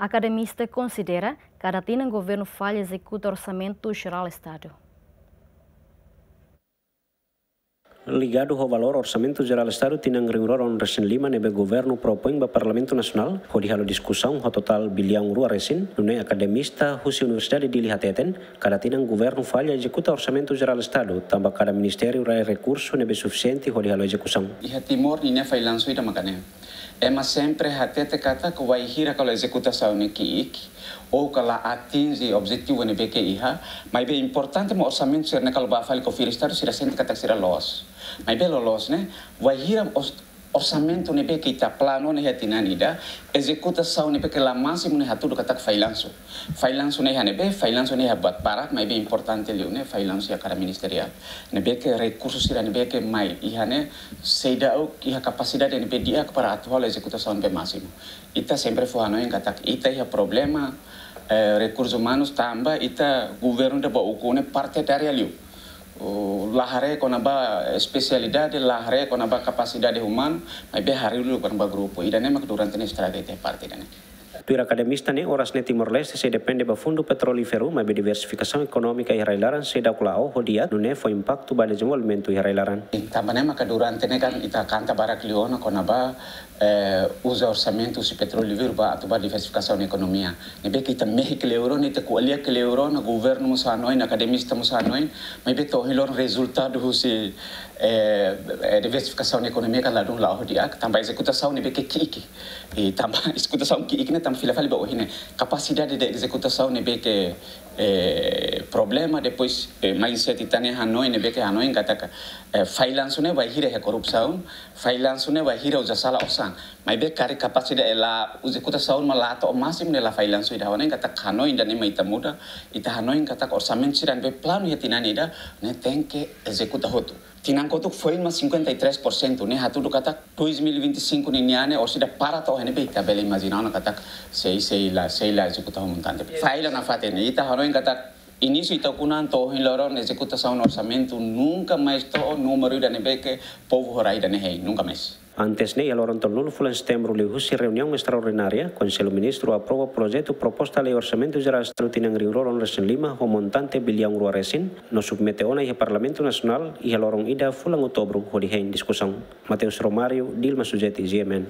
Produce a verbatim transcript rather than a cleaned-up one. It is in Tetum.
Akademista konsidera kada tinan governu falla ezekuta Orsamentu Jerál Estadu. Ligadu ho valór Orsamentu Jerál Estadu tinan rihun rua ruanulu-resin-lima ne'ebé governu propoin ba Parlamentu Nasionál hodi halo diskusaun ho totál biliaun rua resin, nune'e akademista husi Universidade Dili hateten, kada tinan governu falla ezekuta Orsamentu Jerál Estadu, tanba kada ministériu rai rekursu ne'ebé sufisiente hodi halo ezekusaun. Iha Timor ninia fallansu ida maka ne'e. Ema sempre hatete katak wainhira kalau ezekutasaun ne'e ki'ik, ou ka la atinje objetivu ne'ebé ke iha, maibé importante mak orsamentu sira-ne'e kalau ba fali konfirma Estadu sira sente katak sira loos. Maibé loloos ne'e, wainhira os-, orsamentu ne'ebé ke ita planu ona iha tinan ida, ezekutasaun ne'ebé ke la másimu ne'e hatudu katak fallansu. Fallansu ne'e iha ne'ebé, fallansu ne'e iha buat barak, maibé importante liu ne'e fallansu iha kada ministeriál. Ne'ebé ke rekursu sira ne'ebé ke mai iha ne'e seidauk iha kapasidade ne'ebé di'ak para atu halo ezekutasaun ne'ebé másimu. Ita sempre fó hanoin katak ita iha problema, eh, rekursus umanus tanba ita governu ida ba ukun ne'e partidariál liu. O, la haree kona-ba espesialidade, la haree kona-ba kapasidade umanu, maibé haree liu kona-ba grupu. Ida-ne'e mak durante ne'e estraga ita parte ida-ne'e. Tuir akademista ne'e, oras ne'e Timor-Leste sei depende ba fundu petrolíferu, maibé diversifikasaun ekonómika iha rai-laran seidauk la'o ho di'ak, nune'e fó impaktu ba dezenvolvimentu iha rai-laran. Tanba ne'e maka durante ne'e kan ita kanta barak liu ona kona-ba, eh, uza orsamentu husi petrolíferu ba atu ba diversifikasaun ekonomia. Ne'ebé ke ita mehi kleur ona, ita ko'alia kleur ona, governu mós hanoin, akademista mós hanoin, maibé to'o ohin loron rezultadu husi, eh, eh, diversifikasaun ekonomia kan ladún la'o ho di'ak, tanba ezekutasaun ne'ebé ke ki'ik. I tanba ezekutasaun ki'ik ne'e tanba fila fali ba ohin ne'e. Kapasidade de ezekutasaun ne'ebé ke, eh, problema, depois, eh, mindset ita-nia hanoin ne'ebé ke hanoin katak, eh, fallansu ne'e wainhira iha korrupsaun, fallansu ne'e wainhira uza sala osan. Maibé karik kapasidade ezekutasaun mak la to'o másimu ne'e la fallansu ida. Ha'u hanoin katak hanoin ida-ne'e mak ita muda, ita hanoin katak orsamentu sira ne'ebé planu iha tinan ida, ne'e tenke ezekuta hotu. Tinan kotuk foin mak cinquenta e três por cento, ne'e hatudu katak dois mil e vinte e cinco ninian ne'e orsida para to'o iha ne'ebé, ita bele imajina ona katak sei, sei la, sei la ezekuta ho montante. Falla nafatin, ita hanoin katak inísiu ita ukun an to'o ohin loron ezekutasaun orsamentu nunka mais to'o númeru ida ne'ebé ke povu ho rai ida-ne'e hein, nunka mais. Antes ne'e, iha loron tolunulu fulan Setembru liuhusi reuniaun estraordinária, Konsellu Ministru aprova projetu proposta lei Orsamentu Jerál Estadu tinan rihun rua ruanulu-resin-lima ho montante biliaun rua resin, no submete ona iha Parlamentu Nasionál iha loron ida fulan Outubru hodi hein diskusaun. Mateus Romário, Dilma Sujeti, G M N.